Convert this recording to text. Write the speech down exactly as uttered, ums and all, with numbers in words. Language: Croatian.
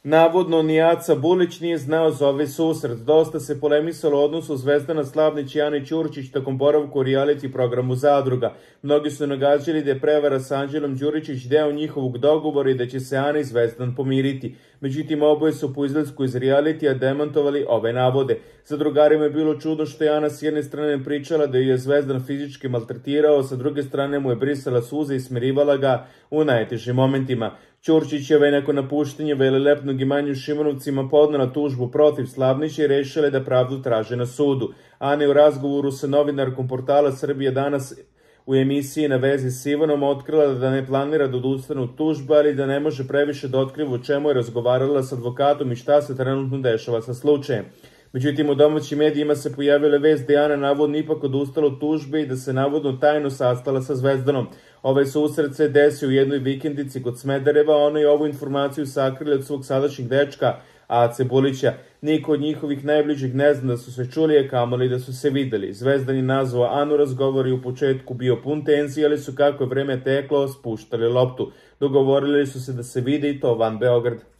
Navodno, ni Aca Bulić nije znao za ovaj susret. Dosta se polemisalo o odnosu Zvezdana Slavnić i Ane Ćurčić tokom boravka u reality programu Zadruga. Mnogi su nagađali da je prevara s Anđelom Đuričić deo njihovog dogovora i da će se Ana i Zvezdan pomiriti. Međutim, oboje su po izlasku iz realitija demantovali ove navode. Zadrugarima je bilo čudno što je Ana s jedne strane pričala da ju je Zvezdan fizički maltretirao, sa druge strane mu je brisala suze i smirivala ga u najtežim momentima. Ćurčićeva je nakon napuštenja velelepnog imanja u Šimunovcima podnela tužbu protiv Slavnića i rešila je da pravdu traže na sudu. Ana je u razgovoru sa novinarkom portala Srbija danas u emisiji Na vezi s Ivanom otkrila da ne planira da odustane od tužbe, ali da ne može previše da otkriva o čemu je razgovarala s advokatom i šta se trenutno dešava sa slučajem. Međutim, u domaćim medijima se pojavila vest da je Ana navodno ipak odustala od tužbe i da se navodno tajno sastala sa Zvezdanom. Ovaj susret se desio u jednoj vikendici kod Smedereva, ona je ovu informaciju sakrila od svog sadašnjeg dečka, Ace Bulića. Niko od njihovih najbližih ne zna da su se čuli, a kamoli da su se videli. Zvezdan je nazvao Anu, razgovor je u početku bio pun tenzije, ali su kako je vreme teklo spuštali loptu. Dogovorili su se da se vide i to van Beograda.